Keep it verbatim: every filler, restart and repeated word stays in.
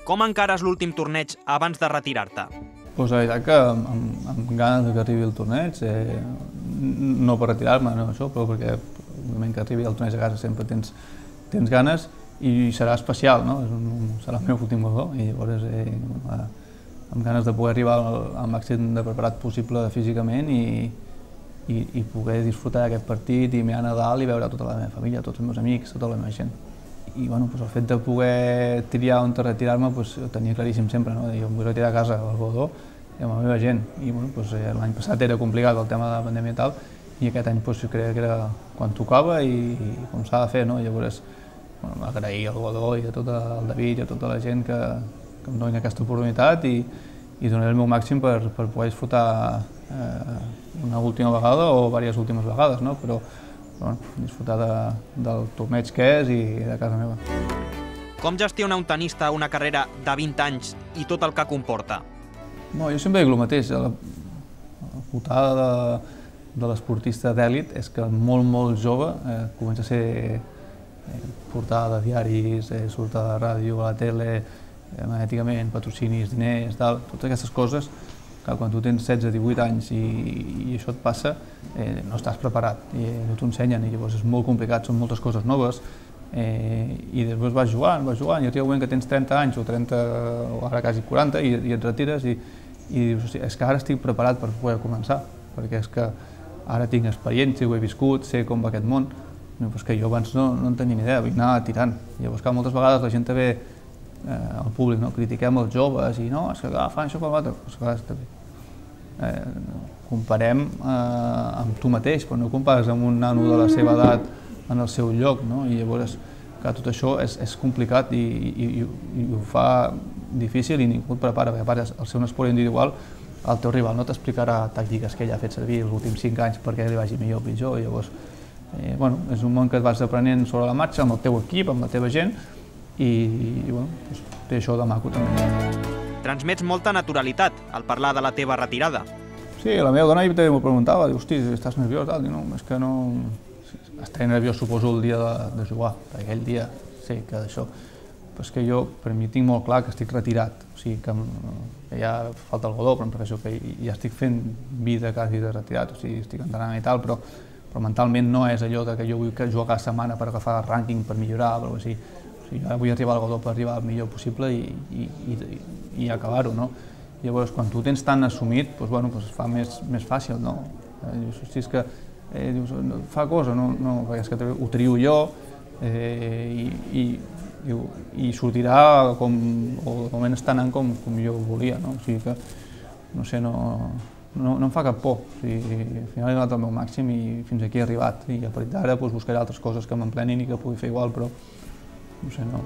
Com encares l'últim torneig abans de retirar-te? Pues la veritat que amb, amb ganes que arribi el torneig, eh, no per retirar-me, no això, però perquè el moment que arribi el torneig a casa sempre tens, tens ganes i serà especial, no? És un, serà el meu últim guardó i llavors eh, amb ganes de poder arribar al, al màxim de preparat possible físicament i, i, i poder disfrutar d'aquest partit i mirar a Nadal i veure tota la meva família, tots els meus amics, tota la meva gent. I bueno, pues el fet de poder triar on retirar-me pues, ho tenia claríssim sempre, no? Jo em vull retirar a casa al Godó i amb la meva gent. I bueno, pues, eh, l'any passat era complicat el tema de la pandèmia i tal, i aquest any pues, jo creia que era quan tocava i, i com s'ha de fer, no? Llavors, bueno, agrair al Godó i a tot el David i a tota la gent que, que em donin aquesta oportunitat i, i donaré el meu màxim per, per poder disfrutar eh, una última vegada o diverses últimes vegades, no? Però bueno, disfrutar de, del torneig que és i de casa meva. Com gestiona un tenista una carrera de vint anys i tot el que comporta? No, jo sempre dic el mateix. La, la putada de, de l'esportista d'èlit és que molt, molt jove eh, comença a ser eh, portada de diaris, eh, surt a la ràdio, a la tele, eh, magnèticament, patrocinis, diners, tal, totes aquestes coses que quan tu tens setze, divuit anys i, i això et passa, eh, no estàs preparat i no t'ho ensenyen i llavors és molt complicat, són moltes coses noves eh, i després vas jugant, vas jugant i arriba un moment que tens trenta anys o trenta o ara quasi quaranta i, i et retires i, i dius, és que ara estic preparat per poder començar perquè és que ara tinc experiència, ho he viscut, sé com va aquest món, no, però és que jo abans no, no en tenia ni idea, vull anar tirant. Llavors que moltes vegades la gent també, eh, el públic, no? Critiquem els joves i no, és que ah, fan això per l'altre, però és que a vegades també Eh, comparem eh, amb tu mateix, però no compares amb un nano de la seva edat en el seu lloc, no? I llavors que tot això és, és complicat i, i, i, i ho fa difícil i ningú et prepara, perquè a part al ser un esport individual el teu rival no t'explicarà tàctiques que ell ha fet servir els últims cinc anys perquè li vagi millor o pitjor, i llavors eh, bueno, és un món que et vas aprenent sobre la marxa amb el teu equip, amb la teva gent i, i bueno, doncs, té això de maco també. Transmets molta naturalitat al parlar de la teva retirada. Sí, la meva dona també m'ho preguntava, diu, hosti, estàs nerviós? Tal? Diu, no, és que no... Estaré nerviós, suposo, el dia de, de jugar, perquè aquell dia sé que d'això. Però és que jo, per mi, tinc molt clar que estic retirat, o sigui, que, que ja falta el Godó, però em refereixo que ja estic fent vida quasi de retirat, o sigui, estic entrenant i tal, però, però mentalment no és allò de que jo vull jugar cada setmana per agafar el rànquing, per millorar, o alguna cosa així. O sigui, ara vull arribar al Godó per arribar el millor possible i, i, i, i acabar-ho, no? Llavors, quan tu tens tan assumit, doncs, bueno, doncs es fa més, més fàcil, no? Eh, dius, hosti, és que eh, dius, no, fa cosa, no, no, perquè és que ho trio jo eh, i, i, i, i sortirà com, o de moment està anant com, com jo volia, no? O sigui que, no sé, no, no, no em fa cap por. O sigui, al final he donat el meu màxim i fins aquí he arribat. I a partir d'ara doncs, buscaré altres coses que m'emplenin i que pugui fer igual, però no sé, no.